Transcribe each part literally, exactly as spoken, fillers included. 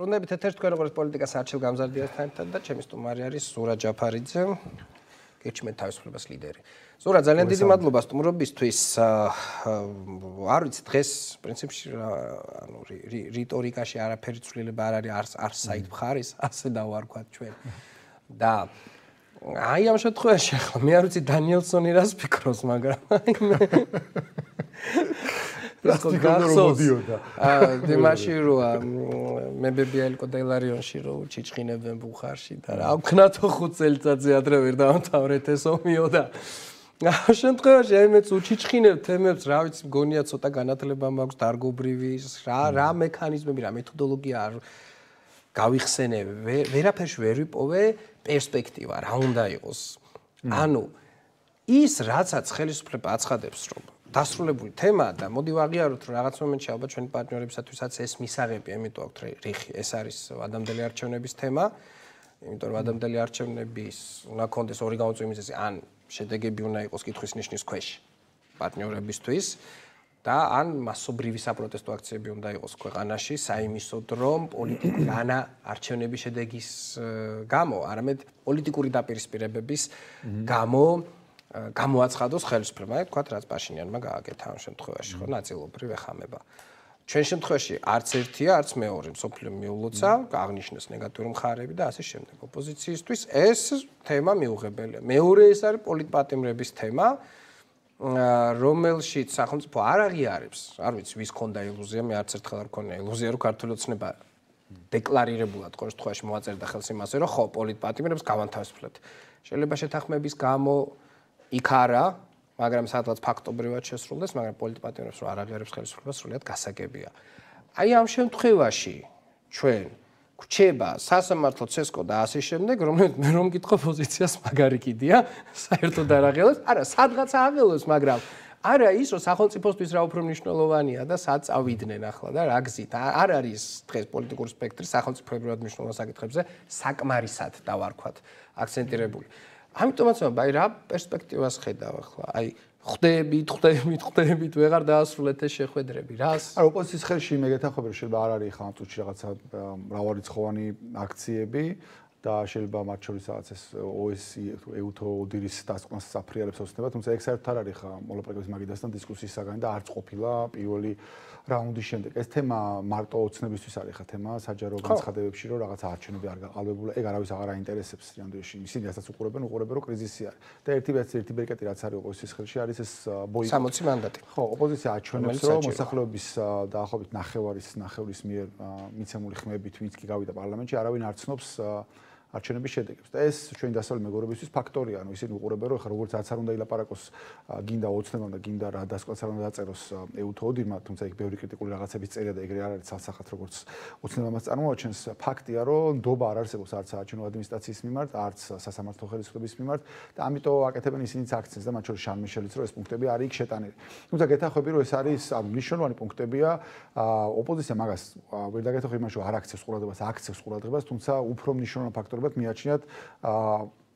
ბრუნდებით ეთერში თქვენ როგორც პოლიტიკას არჩილ გამზარდიასთან ერთად და ჩემი სტუმარი არის ზურა ჯაფარიძე, გირჩმენთ თავისუფლებას ლიდერი. ზურა, ძალიან დიდი მადლობა სტუმრობისთვის. არ ვიცი დღეს პრინციპში ანუ რიტორიკაში არაფერი ცვლილება არ არის არც საით მხარის, ასე დავარქვათ ჩვენ. და აი ამ შემთხვევაში ახლა მე არ ვიცი დანიელსონი რას ფიქრობს, მაგრამ აი მე გახსოვდა. აა დიმაში როა მე ბებიაილკო დელარიონში რო ჩიჩხინებენ ბუხარში და რა ვქნათო ხუთ წელიწადზე ადრე ვერ დავამთავრეთ ეს ომიო და ამ შემთხვევაში აი მეც უჩიჩხინებ თემებს, რა ვიცი, მგონია ცოტა განათლება მაქვს დარგობრივი, რა რა მექანიზმები, რა მეთოდოლოგია არ გავიხსენე, ვერაფერში ვერ ვიპოვე პერსპექტივა, რა უნდა იყოს. ანუ ის რაცაც ხელისუფლება აცხადებს, რომ დასრულებული თემაა და მოდი ვაღიაროთ, რომ რაღაც მომენტში ალბათ ჩვენი პარტნიორებისათვისაც ეს მისაღები, ამიტომ აქვთ რიხი, ეს არის ადამიანელი არჩევნების თემა, იმიტომ რომ ადამიანელი არჩევნების უნდა კონდეს ორი გამოწვევი მიზეზი, ან შედეგები უნდა იყოს კითხვის ნიშნის ქვეშ პარტნიორებისთვის და ან მასობრივი საპროტესტო აქციები უნდა იყოს ქვეყანაში, საიმისოდ რომ პოლიტიკური ანა არჩევნების შედეგის გამო, არამედ პოლიტიკური დაპირისპირებების გამო გამოაცხადოს ხელისუფლება, თქვათ, რაც პაშინიანმა გააკეთა ამ შემთხვევაში, ხო, ნაწილობრივ ეხამება. ჩვენ შემთხვევაში არც ერთია, არც მეორე მსოფლიო მიულოცა, აღნიშნეს ნეგატიური მხარეები და ასე შემდეგ. ოპოზიციისთვის ეს თემა მიუღებელია. მეორე ეს არის პოლიტპატიმრების თემა, რომელშიც სახელმწიფო არ აღიარებს, არ ვიცი, ვის ქონდა ილუზია, მე არც ერთხელ არ მქონია ილუზია, რომ ქართული ოცნება დეკლარირებულად ყოველ შემთხვევაში მოაწერდა ხელს იმაზე, რომ ხო, პოლიტპატიმრებს გავანთავისუფლებთ. შეიძლება შეთანხმების გამო იქ არა, მაგრამ სადღაც ფაქტობრივად შესრულდეს, მაგრამ პოლიტპატიმრებს რო არ აღიარებს ხელისუფლება, სრულიად გასაგებია. აი ამ შემთხვევაში ჩვენ გვჩება სასამართლო ცესკო და ასე შემდეგ, რომელიც მე რომ მკითხო პოზიციას მაგარი კიდია, საერთოდ არ აღიარებს, არა, სადღაც აღიარებს, მაგრამ არა ის, რომ სახელმწიფოსთვის რა უფრო მნიშვნელოვანია და სად წავიდნენ ახლა და რა გზით. არ არის დღეს პოლიტიკური სპექტრი სახელმწიფოებრივად მნიშვნელოვან საკითხებზე საკმარისად დავარქვათ აქცენტირებული. ამიტომაც აი რა პერსპექტივას ხედავ ახლა? აი ხვდებით, ხვდებით, ხვდებით, ვეღარ დაასრულეთ ეს შეხვედრები. რას? არა, ოპოზიციის ხელში მე გეთანხმები, რომ შეიძლება არ არის ხა ამ წუთში რაღაცა მრავალრიცხოვანი აქციები და შეიძლება მათ შორის რაღაც ეს ო-ეს-ი, ე-უთო ოდირის დასკვნას საფრიალებს ოცნება, თუმცა ეგ საერთოდ არ არის ხა მოლაპარაკების მაგიდასთან დისკუსიის საგანი და არც ყოფილა პირველი რაუნდის შემდეგ. ეს თემა მარტო ოცნებისთვის არის ხა თემა საჯარო განცხადებებში, რომ რაღაც არჩევნები არ გაყალბებულა, ეგ არავის აღარ აინტერესებს რანდოში. ისინი რასაც უყურებენ, უყურებენ, რომ კრიზისი არის. და ერთი ბერც ერთი ბერკეტი რაც არის ოპოზიციის ხელში არის ეს ბოიკოტი. სამოცი მანდატი. ხო, ოპოზიცია აჩვენებს, რომ მოსახლეობის დაახლოებით ნახევარის ნახევრის მიერ მიცემული ხმებით ვინც კი გავიდა პარლამენტში, არავინ არ ცნობს არჩევნების შედეგებს. და ეს ჩვენი დასავლელი მეგობრებისთვის ფაქტორია, ანუ ისინი უყურებენ, რომ ხა როგორც რაც არ უნდა ილაპარაკოს, გინდა ოცნებამ და გინდა რა დასკვაც არ უნდა დაწეროს ე-უთო ოდირმა, თუმცა იქ ბევრი კრიტიკული რაღაცების წერია და ეგრე არ არის ცალსახად როგორც ოცნებამაც წარმოაჩენს. ფაქტია, რომ ნდობა არ არსებობს არც საარჩევნო ადმინისტრაციის მიმართ, არც სასამართლო ხელისუფლების მიმართ და ამიტომ აკეთებენ ისინიც აქცენტს და მათ შორის შარლ მიშელიც, რომ ეს პუნქტები არის იქ შეტანილი. თუმცა გეთანხმები, რომ ეს არის ანუ მნიშვნელოვანი პუნქტებია, ოპოზიცია მაგას ვერ დაგეთანხმები იმაში, რომ არ აქცევს ყურადღებას, აქცევს ყურადღებას, თუმცა უფრო მნიშვნელოვანი ფაქტორი მიაჩნიათ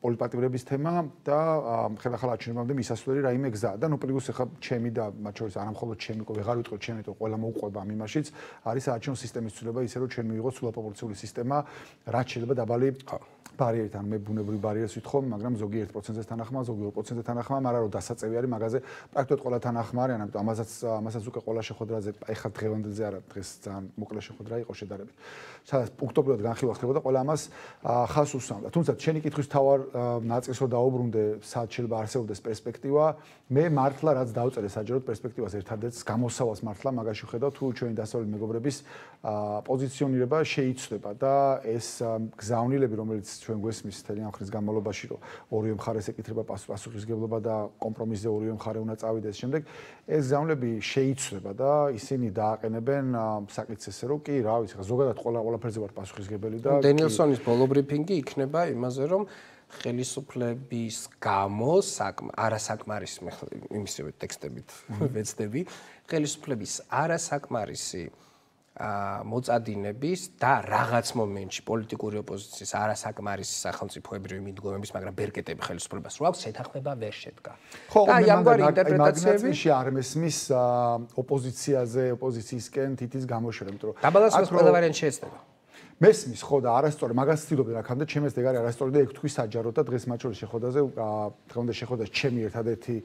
პოლიტპატიმრების თემა და ხელახალ არჩევნებამდე მისასვლელი რაიმე გზა და ნუ პლუს ახლა ჩემი და მათ შორის არა მხოლოდ ჩემი, ვეღარ ვიტყვი ჩემი, თო ყველა მოუყვება ამ იმაშიც არის არჩევნო სისტემის ცვლილება ისე რომ ჩვენ მივიღოთ სულაპროპორციული სისტემა, რაც შეიძლება დაბალი ბარიერით, ანუ მე ბუნებრივი ბარიერს ვითხოვ, მაგრამ ზოგი ერთ პროცენტზე თანახმა, ზოგი ორ პროცენტზე თანახმა, მაგრამ რომ დასაწევი არის მაგაზე პრაქტიკულად ყველა თანახმა არის, ამიტომ ამასაც ამასაც უკვე ყველა შეხვედრაზე, ეხლა დღევანდელზე არა, დღეს ძალიან მოკლე შეხვედრა იყო შედარებით. სადაც პუნქტობრივად განხილვა ხდებოდა, ყველა ამას ხაზს უსვამდა. თუმცა შენი კითხვის თავარ ნაწილს რო დაუბრუნდე, სად შეიძლება არსებობდეს პერსპექტივა, მე მართლა რაც დავწერე საჯაროდ პერსპექტივას ერთადერთს გამოსავალს მართლა მაგაში ხედავ, თუ ჩვენი დასავლელი მეგობრების პოზიციონირება შეიცვლება და ეს გზავნილები, რომელიც ჩვენ გვესმის მთელი ამ ხნის განმავლობაში, რომ ორივე მხარეს ეკითრება პასუხისგებლობა და კომპრომისზე ორივე მხარე უნდა წავიდეს შემდეგ, ეს გზავნილები შეიცვლება და ისინი დააყენებენ საკითხს ესე რომ კი, რა ვიცი, ზოგადად ყველა ყველაფერზე ვარ პასუხისგებელი და დენიელსონის ბოლო ბრიფინგი იქნება იმაზე, რომ ხელისუფლების გამო არასაკმარისი იმისივე ტექსტებით ვეცდები, ხელისუფლების არასაკმარისი მოწადინების და რაღაც მომენტში პოლიტიკური ოპოზიციის არასაკმარისი სახელმწიფოებრივი მიდგომების, მაგრამ ბერკეტები ხელისუფლებას რო აქვს, შეთანხმება ვერ შედგა. და ამგვარი ინტერპრეტაციები არ მესმის ოპოზიციაზე, ოპოზიციისკენ თითის გამოშვება, იმიტომ რომ დაბალანსებას ყველა ვარიანტი შეეცდება. მესმის ხო და არასწორი მაგას ცდილობდი რაკამდე ჩემს დეგარი არასწორი და ეგ თქვი საჯაროდ და დღეს მათ შორის შეხვედრაზე დღემდე შეხვედრაზე ჩემი ერთადერთი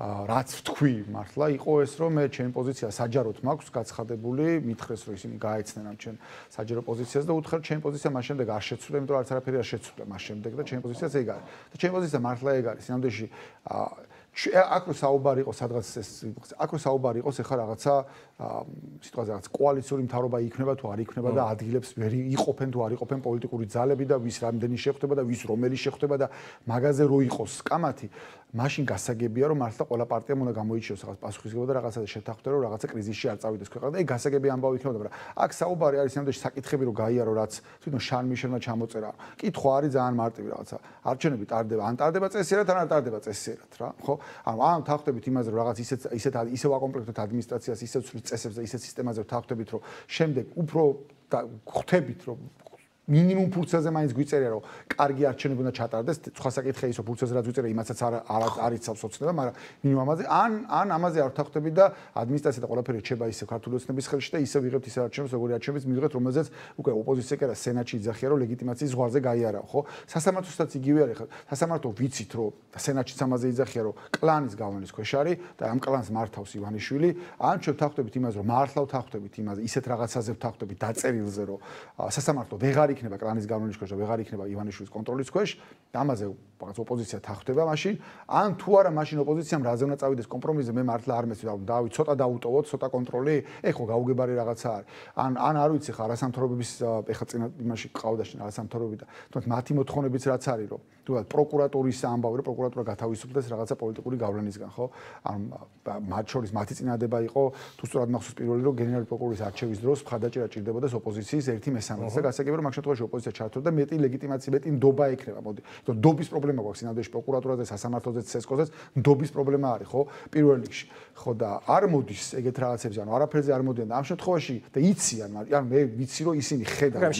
რაც თქვი მართლა იყო ეს რომ მე ჩემი პოზიცია საჯაროდ მაქვს გაცხადებული მითხრეს რომ ისინი გაეცნენ ამ ჩემ საჯარო პოზიციას და უთხრა ჩემი პოზიცია მას შემდეგ არ შეცვლა იმიტომ რომ არც არაფერი არ შეცვლა მას შემდეგ და ჩემი პოზიციაც ეგ არის და ჩემი პოზიცია მართლა ეგ არის სინამდვილეში აქ რო საუბარი იყო სადღაც ეს აქ რო საუბარი იყოს ეხლა რაღაცა სიტყვაზე რაღაც კოალიციური მთავრობა იქნება თუ არ იქნება და ადგილებს ვერ იყოფენ თუ არ იყოფენ პოლიტიკური ძალები და ვის რამდენი შეხვდება და ვის რომელი შეხვდება და მაგაზე რო იყოს კამათი მაშინ გასაგებია რომ მართლა ყველა პარტიამ უნდა გამოიჩიოს რაღაც პასუხისმგებლობა და რაღაცა შეთანხმდება რომ რაღაცა კრიზისში არ წავიდეს ქვეყანა და ეგ გასაგები ამბავი იქნება მაგრამ აქ საუბარი არის სამდეში საკითხები რომ გაიარო რაც თვითონ შან მიშელმა ჩამოწერა კითხვა არის ძალიან მარტივი რაღაცა არჩევნები ტარდება ან ტარდება წესიერად ან არ ტარდება წესიერად რა ხო ანუ ამ თანხმდებით იმაზე რომ რაღაც ისეთ ისეთ ისევ აკომპლექტოთ ადმინისტრაციას ისევ ცვლის წესებს და ისეთ სისტემაზე თანხმდებით რომ შემდეგ უფრო ხვდებით რომ მინიმუმ ფურცელზე მაინც გვიწერია რომ კარგი არჩევნები უნდა ჩატარდეს სხვა საკითხია ის რომ ფურცელზე რაც გვიწერია იმაცაც არ არ იცავს ოცნება მაგრამ მინიმუმ ამაზე ან ან ამაზე არ თანხმდებით და ადმინისტრაცია და ყველაფერი რჩება ისე ქართული ოცნების ხელში და ისე ვიღებთ ისე არჩევნებს როგორი არჩევნებს მივიღეთ რომელზეც უკვე ოპოზიცია კი არა სენატში იძახია რომ ლეგიტიმაციის ზღვარზე გაიარავ ხო სასამართლოსაც იგივე არის ხო სასამართლო ვიცით რომ სენატშიც ამაზე იძახია რომ კლანის გავლენის ქვეშ არის და ამ კლანს მართავს ივანიშვილი ან ჩვენ თანხმდებით იმაზე რომ მართლა თანხმდებით იმაზე ისეთ რაღაცაზე თანხმდებით დაწერილზე რომ სასამართლო ვეღარ იქნება კლანის გავლენის ქვეშ და ვეღარ იქნება ივანიშვილის კონტროლის ქვეშ ამაზე რაღაც ოპოზიცია თანხმდება მაშინ ან თუ არა მაშინ ოპოზიციამ რაზე უნდა წავიდეს კომპრომისზე მე მართლა არ მესმის რომ დავი ცოტა დაუტოვოთ ცოტა კონტროლი ეხო გაუგებარი რაღაცა არის ან ან არ ვიცი ხა არასამთავრობების ეხა წინა იმაში ყავდა შენ არასამთავრობები და თუმცა მათი მოთხოვნებიც რაც არის რომ თუნდაც პროკურატურის ამბავი რომ პროკურატურა გათავისუფლდეს რაღაცა პოლიტიკური გავლენისგან ხო ან მათ შორის მათი წინადადება იყო თუ სწორად მახსოვს პირველი რომ გენერალური პროკურორის არჩევის დროს მხარდაჭერა ჭირდებოდა ოპოზიციის ერთი მესამედი და გასაგებია რომ მაგ შემთხვევაში ოპოზიცია ჩართო და მეტი ლეგიტიმაცია მეტი ნდობა ექნება მოდი იმიტომ ნდობის პრობლემა გვაქვს სინამდვილეში პროკურატურაზე სასამართლოზე ცესკოზეც ნდობის პრობლემა არის ხო პირველ რიგში ხო და არ მოდის ეგეთ რაღაცებზე ანუ არაფერზე არ მოდიან და ამ შემთხვევაში და იციან ანუ მე ვიცი რომ ისინი ხედავენ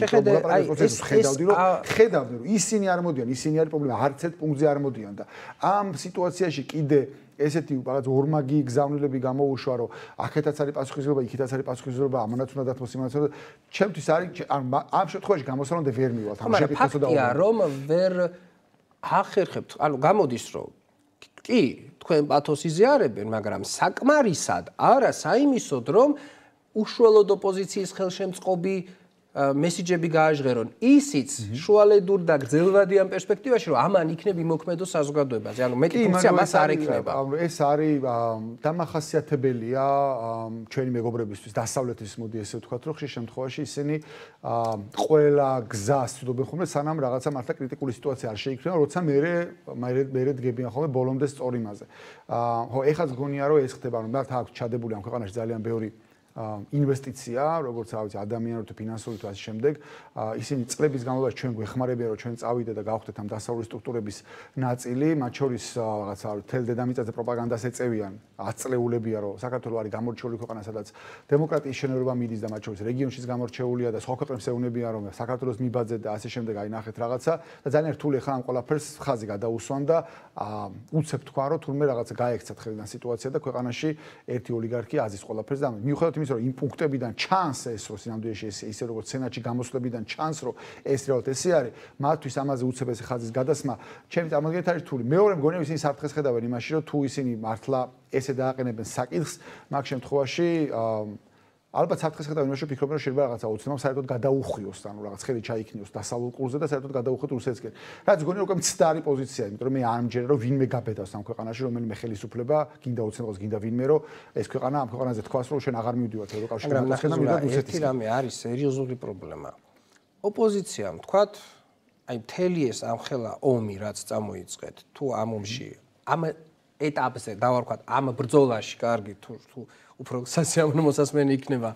ხედავდი რომ ხედავდნენ რომ ისინი არ მოდიან ისინი არის პრობლემა არც ერთ პუნქტზე არ მოდიან და ამ სიტუაციაში კიდე ესეთი რაღაც ორმაგი გზავნილები გამოუშვა რომ აქეთაც არის პასუხისმგებლობა იქითაც არის პასუხისმგებლობა ამანაც უნდა დათმოს იმანაც უნდა ჩემთვის არის ამ შემთხვევაში გამოსვლამდე ვერ მივალთ ამ შეკითხვასა და ფაქტია რომ ვერ ახერხებთ ანუ გამოდის რომ კი თქვენ პათოს იზიარებენ მაგრამ საკმარისად არა საიმისოდ რომ უშუალოდ ოპოზიციის ხელშემწყობი მესიჯები გააჟღერონ ისიც შუალედურ და გრძელვადიან პერსპექტივაში რომ ამან იქნება იმოქმედო საზოგადოებაზე ანუ მეტი ფუნქცია მას არ ექნება ეს არის დამახასიათებელია ჩვენი მეგობრებისთვის დასავლეთის მოდი ესე ვთქვათ რომ ხშირ შემთხვევაში ისინი ყველა გზას ცდილობენ ხოლმე სანამ რაღაცა მართლა კრიტიკული სიტუაცია არ შეიქმნება როცა მე მე დგებიან ხოლმე ბოლომდე სწორ იმაზე ხო ეხაც გონია რომ ეს ხდება რომ მართლა აქვს ჩადებული ამ ქვეყანაში ძალიან ბევრი ინვესტიცია, როგორც რა ვიცი, ადამიანური თუ ფინანსური თუ ასე შემდეგ, ისინი წლების განმავლობაში ჩვენ გვეხმარებიან, რომ ჩვენ წავიდეთ და გავხდეთ ამ დასავლური სტრუქტურების ნაწილი, მათ შორის რაღაცა თელ დედამიწაზე პროპაგანდას ეწევიან, აწლეულებია, რომ საქართველოს არის გამორჩეული ქვეყანა, სადაც დემოკრატიის შენერობა მიდის და მათ შორის რეგიონშიც გამორჩეულია და სხვა ქვეყნებს ეუბნებიან, რომ საქართველოს მიბაძეთ და ასე შემდეგ, აი ნახეთ რაღაცა და ძალიან რთული ხარ ამ ყველაფერს ხაზი გადაუსვან და უცებ თქვა, რომ თურმე რაღაცა გაექცათ ხელიდან სიტუაცია და ქვეყანაში ერთი ოლიგარქი აზის ყველაფერს და მიუხედავად იმის რომ იმ პუნქტებიდან ჩანს ეს რომ სინამდვილეში ეს ისე როგორც სენატში გამოსვლებიდან ჩანს რომ ეს რეალურად ესე არის მათთვის ამაზე უცებ ეს ხაზის გადასმა ჩემი წარმოგიდგენთ არის რთული მეორე მგონია ისინი საფრთხეს ხედავენ იმაში რომ თუ ისინი მართლა ესე დააყენებენ საკითხს მაგ შემთხვევაში ალბათ საფრთხეს ხედავენ იმაში რომ ფიქრობენ რომ შეიძლება რაღაცა ოცნებამ საერთოდ გადაუხვიოს ანუ რაღაც ხელი ჩაიქნიოს დასავლურ კურსზე და საერთოდ გადაუხვიოთ რუსეთსკენ რაც გონია უკვე მცდარი პოზიცია იმიტომ რომ მე არ მჯერა რომ ვინმე გაბედავს ამ ქვეყანაში რომელიმე ხელისუფლება გინდა ოცნებას გინდა ვინმე რომ ეს ქვეყანა ამ ქვეყანაზე თქვას რომ შენ აღარ მივდივართ ევროკავშირში და მივდივართ რუსეთში ერთი რამე არის სერიოზული პრობლემა ოპოზიციამ თქვათ აი მთელი ეს ამხელა ომი რაც წამოიწყეთ თუ ამ ომში ამ ეტაპზე დავარქვათ ამ ბრძოლაში კარგი თუ თუ უფრო სასიამოვნო მოსასმენი იქნება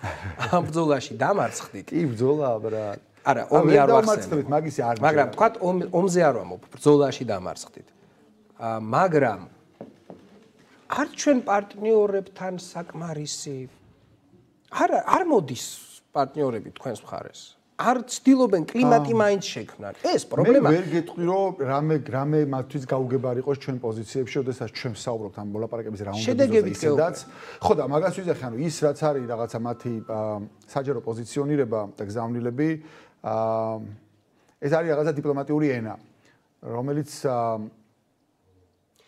ამ ბრძოლაში დამარცხდით. კი ბრძოლა ბრა. არა, ომი არ ვახსენებ, მაგისი არ. მაგრამ თქვათ ომზე არ ვამბობ, ბრძოლაში დამარცხდით. აა მაგრამ არ ჩვენ პარტნიორებთან საკმარისი არა არ მოდის პარტნიორები თქვენს მხარეს. არ ცდილობენ კლიმატი მაინც შექმნან. ეს პრობლემა. მე ვერ გეტყვი რომ რამე რამე მათთვის გაუგებარი იყოს ჩვენ პოზიციებში, ოდესაც ჩვენ ვსაუბრობთ ამ მოლაპარაკების რაუნდებზე ისედაც. ხო და მაგას ვიზახი, ანუ ის რაც არის რაღაცა მათი საჯარო პოზიციონირება და გზავნილები აა ეს არის რაღაცა დიპლომატიური ენა, რომელიც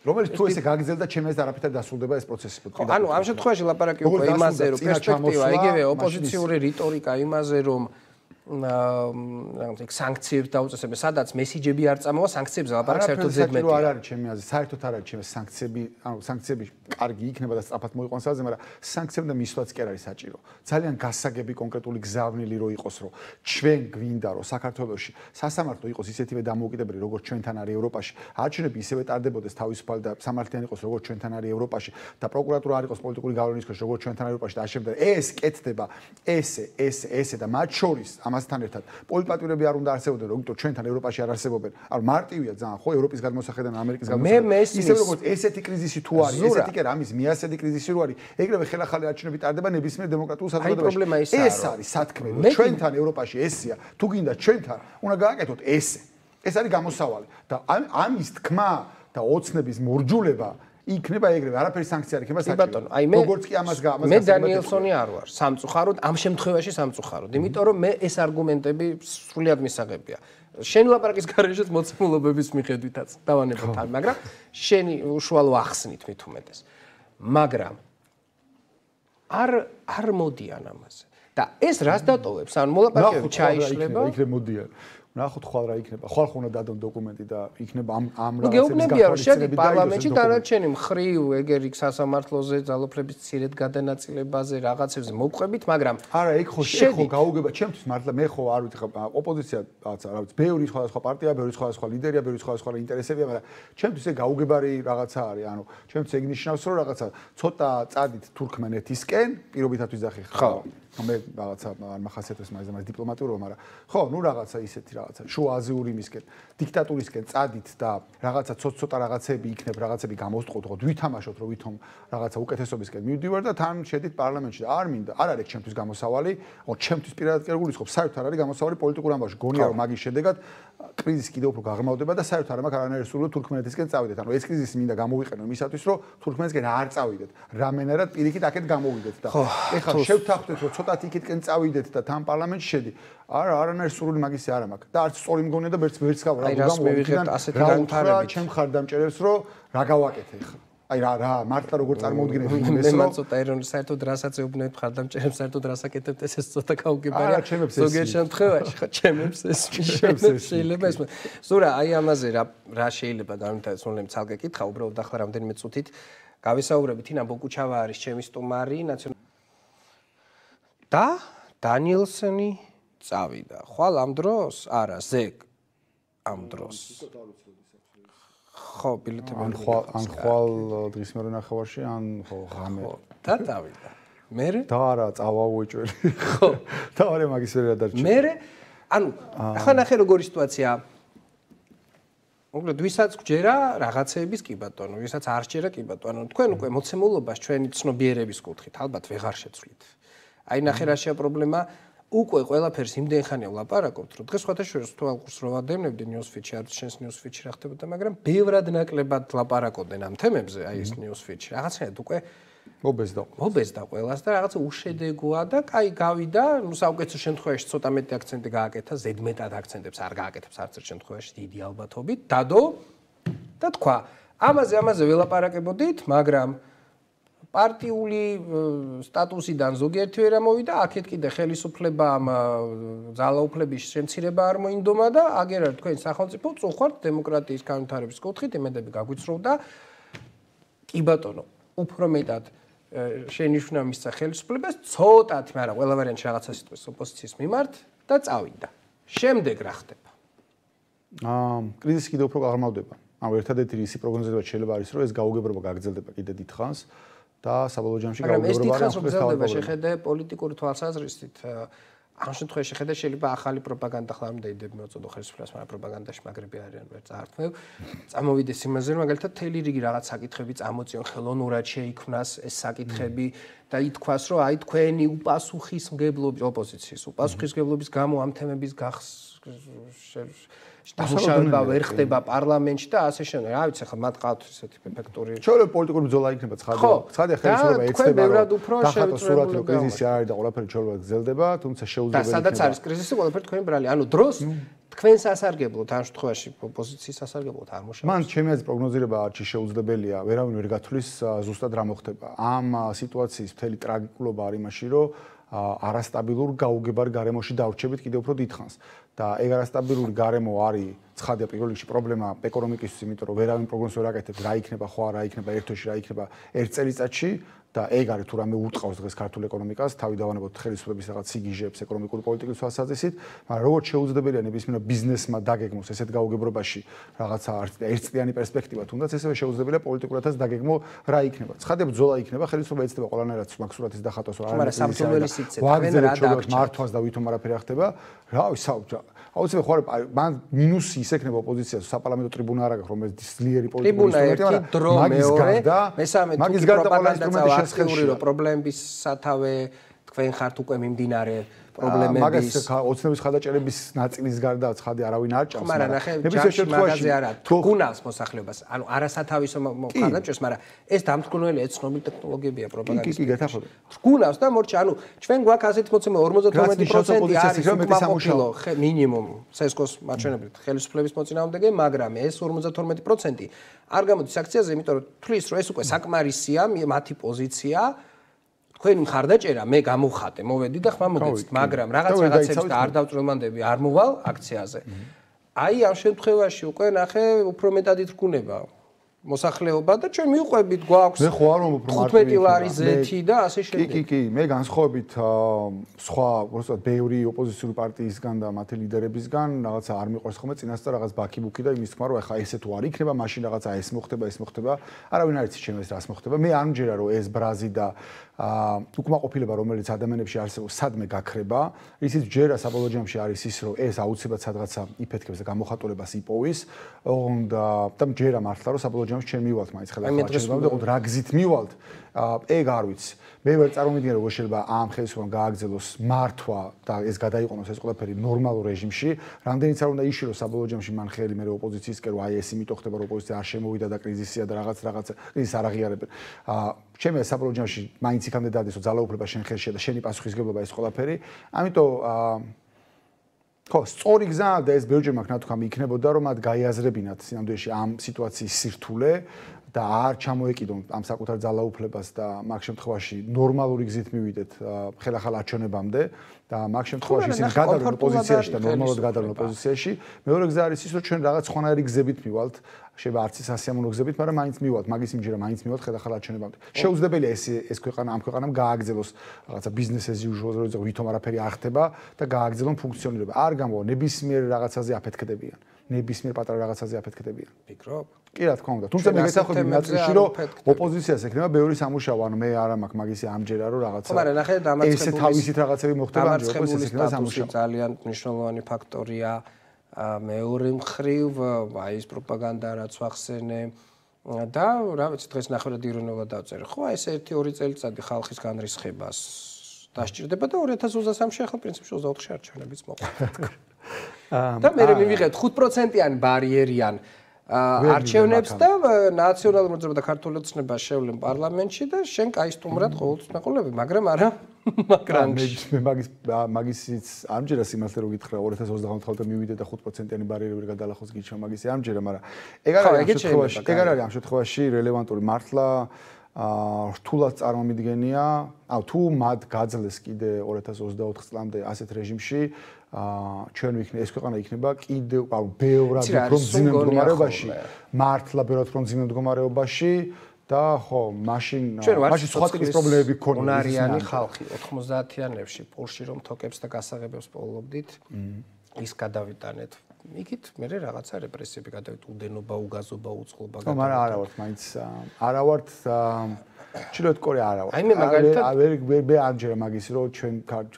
რომელიც თუ ესე გაგრძელდა, ჩემს ეს არაფერთან დასრულდება ეს პროცესი. ანუ ამ შემთხვევაში ლაპარაკი უკვე იმაზე, რომ პერსპექტივა, იგივე ოპოზიციური რიტორიკა იმაზე, რომ აა სანქციებს დაუწესებენ, სადაც მესიჯები არ წამოვა, სანქციებზე ლაპარაკი საერთოდ ზედმეტია. არ არის ჩემი აზრით, საერთოდ არ არის ჩემს სანქციები, ანუ სანქციები კარგი იქნება და სწრაფად მოიყვანს საზზე, მაგრამ სანქციებდა მისვლაც კი არ არის საჭირო. ძალიან გასაგები კონკრეტული გზავნილი რო იყოს, რომ ჩვენ გვინდა, რომ საქართველოში სასამართლო იყოს ისეთივე დამოუკიდებელი, როგორც ჩვენთან არის ევროპაში, არჩევნები ისევე ტარდებოდეს თავისუფალი და სამართლიანი იყოს, როგორც ჩვენთან არის ევროპაში და პროკურატურა არ იყოს პოლიტიკური გავლენის ქვეშ, როგორც ჩვენთან არის ევროპაში და ამ შემდეგ ეს კეთდება ესე, ესე, ესე და მათ შორის ამასთან ერთად პოლიტპატვირები არ უნდა არსებობდნენ, როგიტო ჩვენთან ევროპაში არ არსებობენ. არ მარტივია ძალიან, ხო, ევროპის გადმოსახედიდან ამერიკის გადმოსახედიდან. ისე როგორც ესეთი კრიზისი თუ არის, ესეთი კი არა, ამის მიასადი კრიზისი რო არის, ეგრევე ხელახალი არჩევნები ტარდება ნებისმიერ დემოკრატიულ საზოგადოებაში. ეს არის სათქმე, რომ ჩვენთან ევროპაში ესეა, თუ გინდა ჩვენთან, უნდა გააკეთოთ ესე. ეს არის გამოსავალი და ამის თქმა და ოცნების მორჯულება იქნება ეგრევე, არაფერი სანქცია არ იქნება საჭირო. როგორც კი ამას ამას მე დანიელსონი არ ვარ სამწუხაროდ, ამ შემთხვევაში სამწუხაროდ, იმიტომ რომ მე ეს არგუმენტები სრულიად მისაღებია. შენი ლაპარაკის გარეშეც მოცემულობების მიხედვითაც დავანებოთ ამ, მაგრამ შენი უშუალო ახსნით მით უმეტეს. მაგრამ არ არ მოდიან ამაზე. და ეს რას დატოვებს? ანუ მოლაპარაკებები ჩაიშლება. იქნებ მოდიან. ნახოთ ხვალ რა იქნება. ხვალ ხომ უნდა დადონ დოკუმენტი და იქნება ამ ამ რაღაცების გეუბნებია რომ შედი პარლამენტში დანარჩენი მხრივ ეგერ იქ სასამართლოზე ძალოფლების ცირედ გადანაწილებაზე რაღაცებზე მოგყვებით, მაგრამ არა, ეგ ხო შეხო გაუგება ჩემთვის მართლა მე ხო არ ვიცი ხა ოპოზიცია რაღაცა რა ვიცი, ბევრი სხვადასხვა პარტია, ბევრი სხვადასხვა ლიდერია, ბევრი სხვადასხვა ინტერესებია, მაგრამ ჩემთვის ეგ გაუგებარი რაღაცა არის, ანუ ჩემთვის ეგ ნიშნავს რომ რაღაცა ცოტა წადით თურქმენეთისკენ, პირობითად ვიზახი ხა მე რაღაცა არ მახასიათებს მაგას მაგას დიპლომატიურობა, მაგრამ ხო, ნუ რაღაცა ისეთი რაღაცა შუა აზიურიმისკენ, დიქტატურისკენ წადით და რაღაცა ცოტ-ცოტა რაღაცები იქნებ, რაღაცები გამოვსტყოთ, ხო, ვითამაშოთ, რომ ვითომ რაღაცა უკეთესობისკენ მივდივარ და თან შედით პარლამენტში და არ მინდა, არ არის ჩემთვის გამოსავალი, ხო, ჩემთვის პირადად კი არ გულისხმობ, საერთოდ არ არის გამოსავალი პოლიტიკურ ამბავში. გონია რომ მაგის შედეგად კრიზისი კიდევ უფრო გაღრმავდება და საერთოდ არ მაქვს არანაირი სურვილი თურქმენეთისკენ წავიდეთ. ანუ ეს კრიზისი მინდა გამოვიყენო იმისათვის, რომ თურქმენეთისკენ არ წავიდეთ. რამენერად პირიქით აქეთ გამოვიდეთ და ეხლა შევთანხმდეთ, რომ ცოტა იქითკენ წავიდეთ და თან პარლამენტში შედი. არა, არანაირი სურვილი მაგისი არ მაქვს. და არც სწორი მგონია და ვერც ვერც გავარ. აი რას მივიღებთ ასეთი განვითარებით. ჩემ ხარდამჭერებს, რომ რა გავაკეთე ხა. აი რა რა მართლა როგორ წარმოუდგენელი იმეს რომ მე ცოტა ეროვნ საერთოდ რასაც ეუბნებთ ხარდამჭერებს საერთოდ რას აკეთებთ ეს საერთოდ გაუგებარია ზოგიერთ შემთხვევაში ხა ჩემებს ეს შეიძლება ეს ზურა აი ამაზე რა რა შეიძლება განვითარდეს უნდათ ცალკე კითხა უბრალოდ ახლა რამდენიმე წუთით გავისაუბრებით ინა ბოკუჩავა არის ჩემი სტუმარი ნაციონალური და დანიელსონი წავიდა ხვალ ამ დროს არა ზეგ ამ დროს ხო, ბილეთები ან ხვალ ან ხვალ დღის მერე ნახევარში, ან ხო, ღამე. და დავიდა. მერე? და არა, წავავუეჭველი. ხო. და არა მაგის ვერ ადარჩა. მერე, ანუ ახლა ნახე როგორი სიტუაცია. უბრალოდ ვისაც გჯერა რაღაცეების კი ბატონო, ვისაც არ სჯერა კი ბატონო. თქვენ უკვე მოცემულობას ჩვენი ცნობიერების კუთხით ალბათ ვეღარ შეცვლით. აი ნახე რა შეა პრობლემა. უკვე ყველაფერს იმდენ ხანია ვლაპარაკობთ, რომ დღეს სხვათა შორის თუ ალყურს რო ვადევნებდი ნიუსფიჩი, არ შენს ნიუსფიჩი რა ხდებოდა, მაგრამ ბევრად ნაკლებად ლაპარაკობდნენ ამ თემებზე, აი ეს ნიუსფიჩი. რაღაცნაირად უკვე მობეზდა. მობეზდა ყველას და რაღაცა უშედეგოა და კაი გავიდა, ნუ საუკეთესო შემთხვევაში ცოტა მეტი აქცენტი გააკეთა, ზედმეტად აქცენტებს არ გააკეთებს არც ერთ შემთხვევაში დიდი ალბათობით, დადო და თქვა, ამაზე ამაზე ველაპარაკებოდით, მაგრამ პარტიული სტატუსიდან ზოგიერთი ვერ ამოვიდა, აქეთ კიდე ხელისუფლება ამ ძალაუფლების შემცირება არ მოინდომა და აგერა თქვენ სახელმწიფო წუხვართ დემოკრატიის განვითარების კუთხით, იმედები გაგვიცროვდა. კი ბატონო, უფრო მეტად შენიშვნა მისცა ხელისუფლებას, ცოტათი, მაგრამ ყველა ვარიანტში რაღაცა სიტყვის ოპოზიციის მიმართ და წავიდა. შემდეგ რა ხდება? აა, კრიზისი კიდევ უფრო გაღრმავდება. ანუ ერთადერთი ისი პროგნოზება შეიძლება არის, რომ ეს გაუგებრობა გაგრძელდება კიდე დიდხანს. და საბოლოო ჯამში გაუგებრობა ეს დიდხანს გრძელდება შეხედე პოლიტიკური თვალსაზრისით ამ შემთხვევაში შეხედე შეიძლება ახალი პროპაგანდა ხლა მინდა იდეები მოწოდო ხელისუფლებას მაგრამ პროპაგანდაში მაგრები არიან ვერ წაართმევ წამოვიდეს იმაზე რომ მაგალითად თელი რიგი რაღაც საკითხები წამოწიონ ხელოვნურად შეიქმნას ეს საკითხები და ითქვას რომ აი თქვენი უპასუხისმგებლობის ოპოზიციის უპასუხისმგებლობის გამო ამ თემების გახს დამუშავება ვერ ხდება პარლამენტში და ასე შემდეგ. რა ვიცი, ხა მათ ყავთ ესეთი ეფექტური. შეიძლება პოლიტიკური ბრძოლა იქნება ცხადია. ცხადია ხელისუფლება ეცდება რომ დახატოს სურათი რომ კრიზისი არ არის და ყველაფერი შეიძლება გრძელდება, თუმცა შეუძლებელი და სადაც არის კრიზისი, ყველაფერი თქვენი ბრალი. ანუ დროს თქვენს ასარგებლოთ ამ შემთხვევაში ოპოზიციის ასარგებლოთ არ მოშალოს. მან ჩემი აზრით პროგნოზირება არჩი შეუძლებელია, ვერავინ ვერ გათვლის ზუსტად რა მოხდება. ამ სიტუაციის მთელი ტრაგიკულობა არის იმაში, რომ არასტაბილურ გაუგებარ გარემოში დავრჩებით კიდევ უფრო დიდხანს. და ეგ არასტაბილური გარემო არის ცხადია პირველ რიგში პრობლემა ეკონომიკისთვის, იმიტომ რომ ვერავინ პროგნოზს ვერ აკეთებს რა იქნება, ხო არა იქნება ერთ თვეში, რა იქნება ერთ წელიწადში და ეგ არის თუ რამე უტყავს დღეს ქართულ ეკონომიკას, თავი დავანებოთ ხელისუფლების რაღაც სიგიჟებს ეკონომიკური პოლიტიკის თვალსაზრისით, მაგრამ როგორც შეუძლებელია ნებისმიერ ბიზნესმა დაგეგმოს ესეთ გაუგებრობაში რაღაცა ერთწლიანი პერსპექტივა, თუნდაც ესევე შეუძლებელია პოლიტიკურადაც დაგეგმო რა იქნება. ცხადია ბრძოლა იქნება, ხელისუფლება ეცდება ყველანაირად მაქსურათის დახატვას, რა არის სამწუხაროდ სიცე, თქვენ რა დაგჭირთ მართვას და ვითომ არაფერი არ ხდება. რა ვიცი, აუცილებლად ხო არა, მან მინუსი ის ექნება ოპოზიციას, საპარლამენტო ტრიბუნა არ აქვს, რომელიც ძლიერი პოლიტიკური ინსტრუმენტია, მაგის გარდა, მესამე მაგის გარდა ყველა ინსტრუმენტი შესაძლებელი რომ პრობლემების სათავე თქვენ ხართ უკვე მიმდინარე პრობლემების მაგას ოცნების ხადაჭერების ნაწილის გარდა ცხადი არავინ არ ჭამს. მაგრამ ნახე, ჯამში მაგაზე არა, თქუნავს მოსახლეობას, ანუ არასათავისო ხადაჭერს, მაგრამ ეს დამთქმელი ეცნობი ტექნოლოგიებია პროპაგანდის. კი, კი, გეთახობთ. თქუნავს და მორჩა, ანუ ჩვენ გვაქვს ასეთი მოცემა ორმოცდათორმეტი პროცენტი არის უკმაყოფილო მინიმუმ სესკოს მაჩვენებლით ხელისუფლების მოწინააღმდეგე, მაგრამ ეს ორმოცდათორმეტი პროცენტი არ გამოდის აქციაზე, იმიტომ რომ თვლის რომ ეს უკვე საკმარისია მათი პოზიცია. თქვენი მხარდაჭერა მე გამოვხატე, მოვედი და ხმა მოგეცით, მაგრამ რაღაც რაღაცებს და არ დავწვრილმანდები, არ მოვალ აქციაზე. აი ამ შემთხვევაში უკვე ნახე უფრო მეტად ითქუნება მოსახლეობა და ჩვენ მივყვებით გვაქვს მე ხო არ ვამბობ რომ თხუთმეტი ლარი ზეთი და ასე შემდეგ. კი, კი, კი, მე განსხვავებით სხვა, უბრალოდ ბევრი ოპოზიციური პარტიისგან და მათი ლიდერებისგან რაღაცა არ მიყვარს ხოლმე წინასწარ რაღაც ბაქი-ბუქი და იმის თქმა რომ ეხა ესე თუ არ იქნება, მაშინ რაღაცა ეს მოხდება, ეს მოხდება. არავინ არ იცის ჩემს რას მოხდება. მე არ მჯერა რომ ეს ბრაზი და უკმაყოფილება რომელიც ადამიანებში არსებობს სადმე გაქრება, ისიც ჯერა საბოლოო ჯამში არის ის რომ ეს აუცილებლად სადღაცა იფეთქებს და გამოხატულებას იპოვის და და ჯერა მართლა რომ საბოლოო ჯამში ჩვენ მივალთ მაინც ხელახლა და რა გზით მივალთ ეგ არ ვიცი. მე ვერ წარმოვიდგენ როგორ შეიძლება ამ ხელისუფლებამ გააგრძელოს მართვა და ეს გადაიყონოს ეს ყველაფერი ნორმალურ რეჟიმში. რამდენიც არ უნდა იშიროს საბოლოო ჯამში მან ხელი მე ოპოზიციისკენ რომ აი ეს იმიტომ ხდება რომ ოპოზიცია არ შემოვიდა და კრიზისია და რაღაც რაღაც კრიზისს არ აღიარებენ. ჩემი საბოლოო ჯამში მაინც იქამდე დადეს რომ ძალაუფლება შენ ხელშია და შენი პასუხისგებლობა ეს ყველაფერი. ამიტომ ხო, სწორი გზა და ეს ბევრჯერ მაგ ნათქვამი იქნებოდა რომ მათ გაიაზრებინათ სინამდვილეში ამ სიტუაციის სირთულე და არ ჩამოეკიდონ ამ საკუთარ ძალაუფლებას და მაგ შემთხვევაში ნორმალური გზით მივიდეთ ხელახალ არჩევნებამდე და მაგ შემთხვევაში ისინი გადავიდნენ ოპოზიციაში და ნორმალურად გადავიდნენ ოპოზიციაში. მეორე გზა არის ის რომ ჩვენ რაღაც სხვანაირი გზებით მივალთ, შეიძლება არც ის ასიამოვნო გზებით, მაგრამ მაინც მივალთ, მაგის იმჯერა მაინც მივალთ ხელახალ არჩევნებამდე. შეუძლებელია ეს ეს ქვეყანა ამ ქვეყანამ გააგრძელოს რაღაცა business as usual, როცა ვითომ არაფერი არ ხდება და გააგრძელონ ფუნქციონირება. არ გამოვა ნებისმიერ რაღაცაზე აფეთქდებიან. ნებისმიერ პატარა რაღაცაზე აფეთქდებიან. ფიქრობ? კი რა თქმა უნდა. თუმცა მე გესახები ნაწილში რომ ოპოზიციას ექნება ბევრი სამუშაო, ანუ მე არა მაქვს მაგისი ამჯერა რომ რაღაცა მაგრამ ნახე დამარცხებული ესე თავისით რაღაცები მოხდება ამჯერა ოპოზიციას ექნება სამუშაო. ძალიან მნიშვნელოვანი ფაქტორია მეორე მხრივ აი ეს პროპაგანდა რაც ვახსენე და რა ვიცი დღეს ნახევრად ირონულად დავწერე. ხო აი ეს ერთი ორი წელიწადი ხალხის განრისხებას დასჭირდება და ორი ათას ოცდასამში ახლა პრინციპში ოცდაოთხში არჩევნებიც მოყვა. და მე მივიღეთ ხუთ პროცენტიანი ბარიერიან არჩევნებს და ნაციონალურ მოძრაობა და ქართული ოცნება შევლენ პარლამენტში და შენ კაი სტუმრად ყოველთვის მეყოლები, მაგრამ არა მაგრამ მე მაგის მაგისიც ამჯერა სიმართლე რო გითხრა ორი ათას ოცდაოთხ თვალთა მივიდე და ხუთ პროცენტიანი ბარიერი ვერ გადალახოს გიჩვენა მაგისი ამჯერა, მაგრამ ეგ არ არის ამ შემთხვევაში, ეგ არ არის ამ შემთხვევაში რელევანტური მართლა რთულად წარმომიდგენია, აუ თუ მათ გაძლეს კიდე ორი ათას ოცდაოთხ წლამდე ასეთ რეჟიმში ჩვენ ვიქნე ეს ქვეყანა იქნება კიდევ აუ ბევრად უფრო მძიმე მდგომარეობაში, მართლა ბევრად უფრო მძიმე მდგომარეობაში და ხო, მაშინ მაშინ სხვა ტიპის პრობლემები გქონია. უნარიანი ხალხი ოთხმოცდაათიანებში პულში რომ თოკებს და გასაღებებს პოულობდით, ის გადავიტანეთ. იქით მე რაღაცა რეპრესიები გადავით, უდენობა, უგაზობა, უწყლობა გადავით. მაგრამ არა ვართ მაინც არა ვართ ჩილოთ კორე არა ვართ. აი მე მაგალითად ვერ ვერ ამჯერა მაგის რომ ჩვენ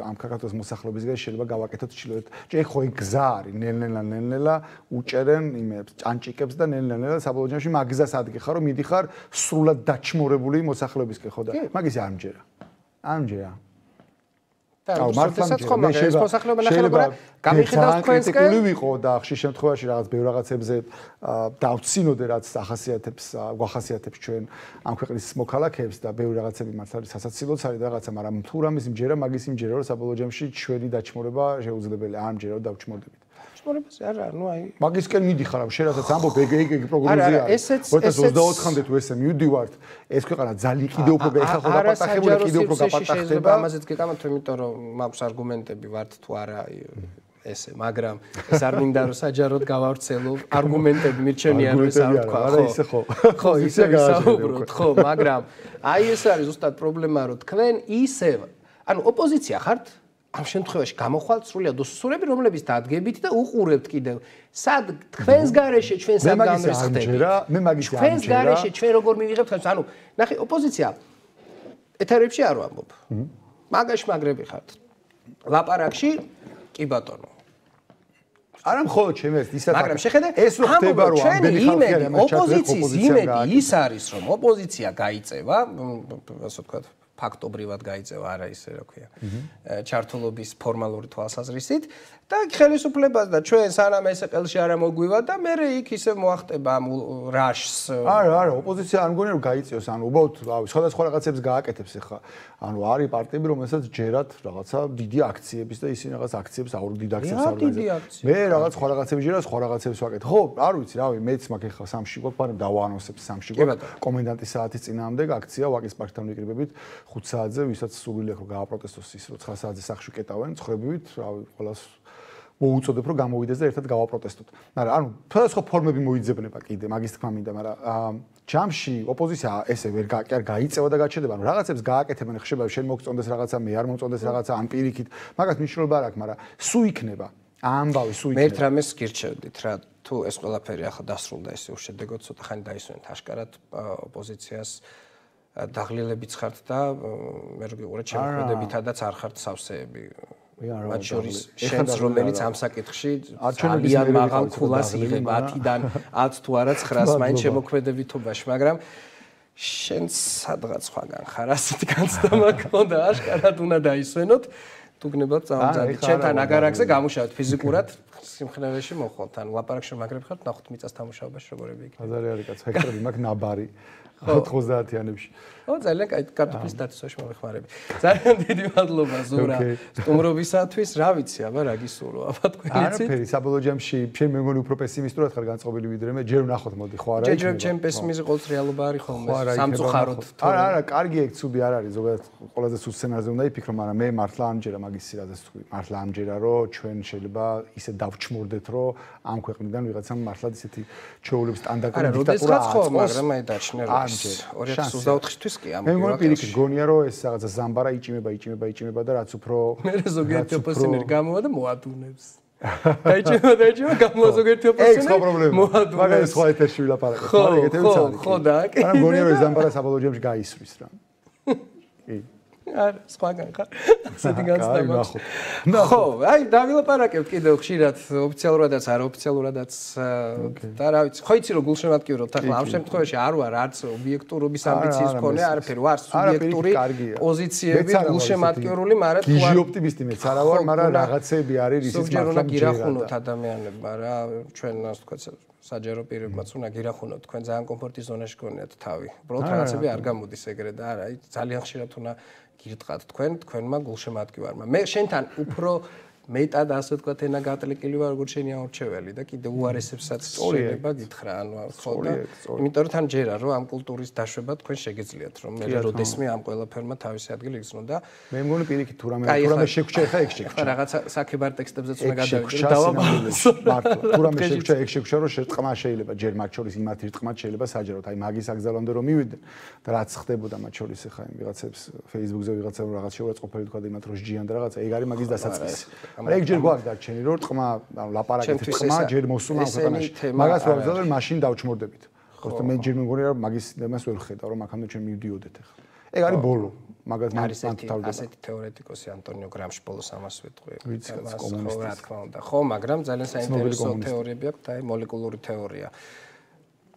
ამ ქართლის მოსახლეობისგან შეიძლება გავაკეთოთ ჩილოთ. ჯერ ხო ეგ გზა არის, ნელ-ნელა ნელ-ნელა უჭერენ იმებს, ჭანჭიკებს და ნელ-ნელა საბოლოო ჯამში მაგ გზას ადგიხარ რომ მიდიხარ სრულად დაჩმორებული მოსახლეობისკენ ხო და მაგის არ ამჯერა. ამჯერა. აუ მართლაც ხომ ეს მოსახლეობა ნახევრად გამიხედავს თქვენსკენ ვიყო და ხშირ შემთხვევაში რაღაც ბევრ რაღაცებზე დავცინოდე რაც ახასიათებს გვახასიათებს ჩვენ ამ ქვეყნის მოქალაქეებს და ბევრ რაღაცები მართლა სასაცილოც არის და რაღაცა მაგრამ თუ რამის იმჯერა მაგის იმჯერა რომ საბოლოო ჯამში ჩვენი დაჩმორება შეუძლებელია არ ამჯერა დავჩმორდებით ჩმორებაზე არა ნუ აი მაგისკენ მიდიხარ ამ შენ რასაც ამბობ ეგ ეგ ეგ პროგნოზია არის two thousand twenty-four-მდე თუ ესე მივდივართ ეს ქვეყანა ძალიან კიდევ უფრო ეხა ხო დაპატახებული კიდევ უფრო გაპატახდება ამაზეც გეკამათო იმიტომ რომ მაქვს არგუმენტები ვართ თუ არა ესე მაგრამ ეს არ მინდა რომ საჯაროდ გავავრცელო არგუმენტები მირჩენია რომ ეს არ თქვა ხო ისე ხო ხო ისე გავავრცელოთ ხო მაგრამ აი ეს არის ზუსტად პრობლემა რომ თქვენ ისე ანუ ოპოზიცია ხართ ამ შემთხვევაში გამოხვალთ სრულად უსუსურები რომლებიც დადგებით და უყურებთ კიდევ სად თქვენს გარეშე ჩვენ სად გამრისხდებით მე მაგის ამჯერა თქვენს გარეშე ჩვენ როგორ მივიღებთ ანუ ნახე ოპოზიცია ეთერებში არ ვამბობ მაგაში მაგრები ხართ ლაპარაკში კი ბატონო არა მხოლოდ ჩემი ეს ისაა მაგრამ შეხედე ეს რო ხდება რომ ამდენი ხალხი არის ამ ოპოზიციის იმედი ის არის რომ ოპოზიცია გაიწევა ასე ვთქვათ ფაქტობრივად გაიწევა არა ისე რა ქვია ჩართულობის ფორმალური თვალსაზრისით და ხელისუფლებას და ჩვენ სანამ ესე ყელში არ მოგვივა და მე იქ ისე მოახტება ამ რაშს არა არა ოპოზიცია არ მგონია რომ გაიწევს ანუ უბრალოდ რავი სხვადასხვა რაღაცებს გააკეთებს ახლა ანუ არის პარტიები რომელსაც ჯერათ რაღაცა დიდი აქციების და ისინი რაღაც აქციებს აურ დიდ აქციებს აორგანიზებს მე რაღაც სხვა რაღაცები ჯერა სხვა რაღაცებს ვაკეთებ ხო არ ვიცი რავი მეც მაქვს ახლა სამში გვაქვს მაგრამ დავაანონსებ სამში გვაქვს კომენდანტის საათის წინააღმდეგ აქცია ვაკის პარკთან ვიკრიბებით ხუთ საათზე ვისაც სურვილი აქვს რომ გააპროტესტოს ის რომ ცხრა საათზე სახში კეტავენ ცხრებივით რავი ყველას მოუწოდებ რომ გამოვიდეს და ერთად გავაპროტესტოთ. მაგრამ ანუ სხვადასხვა ფორმები მოიძებნება კიდე მაგის თქმა მინდა, მაგრამ ჯამში ოპოზიცია ესე ვერ არ გაიწევა და გაჩერდება. ანუ რაღაცებს გააკეთებენ ხშირად შენ მოგწონდეს რაღაცა, მე არ მომწონდეს რაღაცა, ან პირიქით. მაგას მნიშვნელობა არ აქვს, მაგრამ სუ იქნება. ამბავი სუ იქნება. მე ერთ რამეს გირჩევდით რა, თუ ეს ყველაფერი ახლა დასრულდა ესე უშედეგოდ, ცოტა ხანი დაისვენეთ აშკარად ოპოზიციას დაღლილებიც ხართ და მე რო გიყურეთ შემოქმედებითადაც არ ხართ სავსეები. მათ შორის შენს რომელიც ამ საკითხში ძალიან მაღალ ქულას იღება ათიდან ათ თუ არა ცხრას მაინც შემოქმედებითობაში მაგრამ შენ სადღაც სხვაგან ხარ ასეთი განცდამა გქონდა აშკარად უნდა დაისვენოთ თუ გნებავთ წამოძადეთ შენთან აგარაკზე გამუშავეთ ფიზიკურად სიმხნევეში მოხვალთ ანუ ლაპარაკში მაგრებ ხართ ნახოთ მიწას თამუშაობაში როგორები იქნება აზარი არის კაც ჰექტარები მაგ ნაბარი ოთხმოცდაათიანებში. ო ძალიან კაი კარტოფილის დაცვაში მომეხმარები. ძალიან დიდი მადლობა ზურა სტუმრობისათვის. რა ვიცი, აბა რა გისურვო, აბა თქვენიცით. არაფერი, საბოლოო ჯამში შენ მე მგონი უფრო პესიმისტურად ხარ განწყობილი ვიდრე მე. ჯერ ვნახოთ მოდი, ხო არა იქნება. ჯერ ჩემ პესიმიზმი ყოველთვის რეალობა არის ხოლმე. სამწუხაროდ. არა, არა, კარგი ეგ ცუდი არ არის, ზოგადად ყველაზე სულ სცენარზე უნდა იფიქრო, მაგრამ მე მართლა ამჯერა მაგის სირაზეს თქვი. მართლა ამჯერა რომ ჩვენ შეიძლება ისე დავჩმორდეთ, რომ ამ ქვეყნიდან ვიღაცამ მართლა ისეთი ჩეულების სტანდარტული დიქტატურა აწყოს, მაგრამ მე დაჩნე რომ ორი ათას ოცდაოთხ-თვის კი ამ მე მგონი პირიქით გონია რომ ეს რაღაცა ზამბარა იჭიმება იჭიმება იჭიმება და რაც უფრო მე ზოგიერთი ოპოზიციონერი გამოვა და მოადუნებს დაიჭიმება დაიჭიმება გამოვა ზოგიერთი ოპოზიციონერი მოადუნებს მაგარი სხვა ეთერში ვილაპარაკოთ მაგრამ ეგეთებიც არის ხო და კი მაგრამ გონია რომ ეს ზამბარა საბოლოო ჯამში გაისვრის რა კი არა, სხვაგან ხარ. ასეთი განცდა. ხო, აი დავილაპარაკებთ კიდევ ხშირად ოფიციალურადაც, არაოფიციალურადაც და რა ვიცი, ხო იცი რომ გულშემატკივრობთ ახლა ამ შემთხვევაში არ ვარ არც ობიექტურობის ამბიციის მქონე, არაფერი, ვარ სუბიექტური პოზიციები გულშემატკივრული, მაგრამ თუ გიჟი ოპტიმისტი მეც არა ვარ, მაგრამ რაღაცები არის ისიც მართლა. ზოგჯერ უნდა გირახუნოთ ადამიანებმა რა, ჩვენ ასე ვთქვათ საჯარო პირებმაც უნდა გირახუნოთ, თქვენ ძალიან კომფორტის ზონაში გქონიათ თავი. უბრალოდ რაღაცები არ გამოდის ეგრე და არა, აი ძალიან ხშირად უნდა გირტყათ თქვენ, თქვენმა გულშემატკივარმა. მე შენთან უფრო მეტად ასე ვთქვათ ენა გატლიკილი ვარ როგორც შენი აურჩეველი და კიდე უარესებსაც შეიძლება გითხრა, ანუ ხო და იმიტომ რომ თან ჯერა რომ ამ კულტურის დაშვება თქვენ შეგიძლიათ რომ მე როდესმე ამ ყველაფერმა თავისი ადგილი იგრძნო და მე მგონი პირიქით თუ რამე თუ რამე შეგხვჭა ხა ეგ შეგხვჭა. ხა რაღაცა საკებარ ტექსტებზეც უნდა გადავიდე დავაბალანსო. მართლა თუ რამე შეგხვჭა ეგ შეგხვჭა რომ შეტყმა შეიძლება ჯერ მათ შორის იმათ ირტყმათ შეიძლება საჯაროდ აი მაგის აგზალამდე რომ მივიდნენ და რაც ხდებოდა მათ შორის ხა იმ ვიღაცებს Facebook-ზე ვიღაცა რაღაც შეურაცხყოფილი თქვა იმათ რომ ჯიან და რაღაცა ეგ არის მაგის დასაწყისი. მაგრამ ეგ ჯერ გვაქვს დარჩენი რომ თქმა ანუ ლაპარაკით თქმა ჯერ მოსულა ამ ქვეყანაში მაგას ვაგზავნე მაშინ დავჩმორდებით ხოლმე მე ჯერ მეგონია რომ მაგის დემას ვერ ხედავ რომ აქამდე ჩვენ მივდიოდეთ ახლა ეგ არის ბოლო მაგას არის ასეთი თეორეტიკოსი ანტონიო გრამში ბოლოს ამას ვეთქვი ვიცი კომუნისტი რა თქმა უნდა ხო მაგრამ ძალიან საინტერესო თეორიები აქვს და აი მოლეკულური თეორია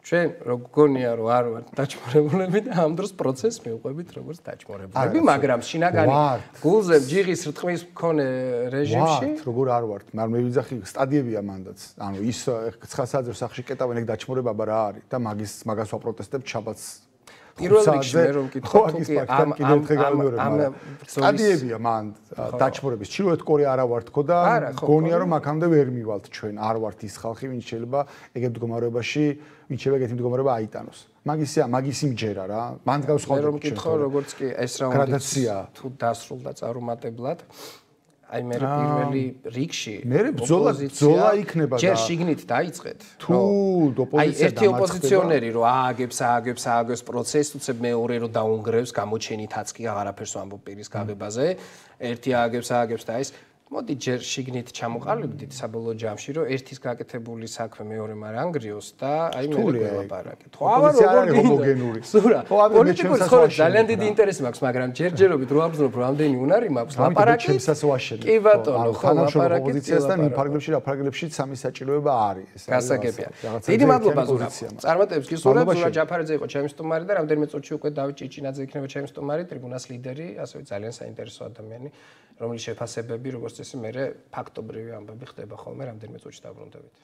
ჩვენ გონია რომ არ ვართ დაჭმორებულები და ამ დროს პროცესს მივყვებით როგორც დაჭმორებულები, მაგრამ შინაგანი გულზე ჯიღის რტყვის მქონე რეჟიმში ვართ, როგორ არ ვართ, მაგრამ მე ვიძახი სტადიებია მანდაც. ანუ ის ცხა საძრო სახში კეტავენ ეგ დაჭმორება რა არის და მაგის მაგას ვაპროტესტებ ჩაბაც პირველ რიგში მე რომ მკითხო თუ კი ამ ამ სტადიებია მან დაჭმორების ჩრდილოეთ კორეა არა ვარ თქო და გონია რომ აქამდე ვერ მივალთ ჩვენ არ ვართ ის ხალხი ვინც შეიძლება ეგ მდგომარეობაში ვინც შეიძლება ეგეთი მდგომარეობა აიტანოს მაგისია მაგის იმჯერა რა მან გავსხავდები მე რომ მკითხო როგორც კი ეს რაუნდი თუ დასრულდა წარუმატებლად აი მე პირველი რიგში მე ბრძოლა ბრძოლა იქნება და ჯერ შიგნით დაიწყეთ თუ ოპოზიცია აი ერთი ოპოზიციონერი რომ ააგებს ააგებს ააგებს პროცესს უცებ მეორე რომ დაუნგრევს გამოჩენითაც კი აღარაფერს ამბობ პირის გაღებაზე ერთი ააგებს ააგებს და ის მოდი ჯერ შიგნით ჩამოყალიბდით საბოლოო ჯამში რომ ერთის გაკეთებული საქმე მეორე არ ანგრიოს და აი მე გველაპარაკეთ. ხო აბა როგორ ჰომოგენური. სურა. პოლიტიკური ცხოვრება ძალიან დიდი ინტერესი მაქვს, მაგრამ ჯერჯერობით რო აბრძნობ რამდენი უნარი მაქვს ლაპარაკი. ჩემსაც ვაშენებ. კი ბატონო, ხო ლაპარაკი ოპოზიციასთან იმ ფარგლებში რა ფარგლებში სამი საჭიროება არის. ეს გასაგებია. დიდი მადლობა ზურა. წარმატებებს გისურვებ. ზურა ჯაფარიძე იყო ჩემი სტუმარი და რამდენიმე წუთში უკვე დავით ჭიჭინაძე იქნება ჩემი სტუმარი, ტრიბუნას ლიდერი, ასევე ძალიან საინტერესო ადამიანი, რომლის შეფასებები როგორც წესი მე ფაქტობრივი ამბები ხდება ხოლმე რამდენიმე წუთში დაბრუნდებით.